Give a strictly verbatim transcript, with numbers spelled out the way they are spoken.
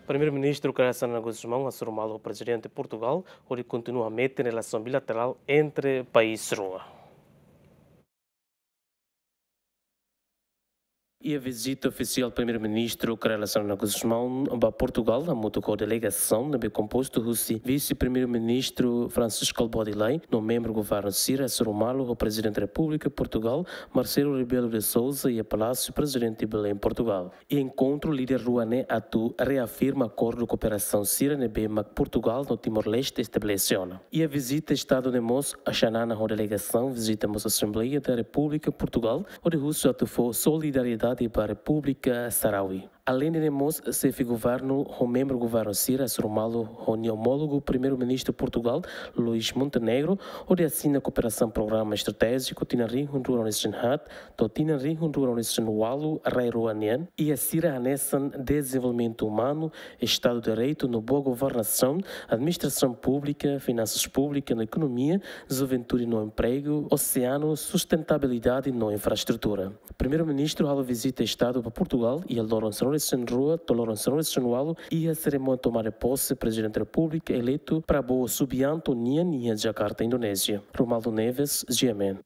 Primeiru-Ministru Kay Rala Xanana Gusmão hasoru malu ho Prezidente Portugal, hodi kontinua hametin relasaun bilaterál entre país rua. Iha vizita ofisiál Primeiru-Ministru Kay Rala Xanana Gusmão ba Portugal, hamutuk ho delegasaun ne'ebé kompostu husi Vise-Primeiru-Ministru Francisco Albude Lay, no membru governu sira hasoru malu ho Prezidente Repúblika Portugal, Marcelo Rebelo de Sousa, iha Palásiu Prezidente Belém, Portugal. Iha enkontru, líder rua ne'e atu reafirma akordu kooperasaun sira ne'ebé mak Portugal no Timor-Leste estabelese ona. Iha vizita Estadu ne'e mós, Xanana ho delegasaun vizita mós Assembleia da República Portugal, hodi husu atu fó solidariedade ba Repúblika Sahrawi. Aleinde ne'e mós, xefe governu ho membru governu sira hasoru malu ho nia omólogu Primeiru-Ministru Portugal, Luís Montenegro, hodi asina kooperasaun programa estratéjiku tinan rihun rua ruanulu-resin-haat to'o tinan rihun rua ruanulu-resin-ualu rai rua nian, iha sira hanesan dezenvolvimentu umanu, Estadu de Direitu no boa governasaun, administrasaun públika, finansas públikas no ekonomia, juventude no empregu, oseanu, sustentabilidade no infraestrutura. Primeiru-Ministru halo vizita Estadu ba Portugal iha loron sanulu-resin-rua to'o loron sanulu-resin-ualu, iha serimónia tomada de posse Prezidente Repúblika eleitu Prabowo Subianto nian iha Jakarta, Indonézia. Romualdo Neves, G M N.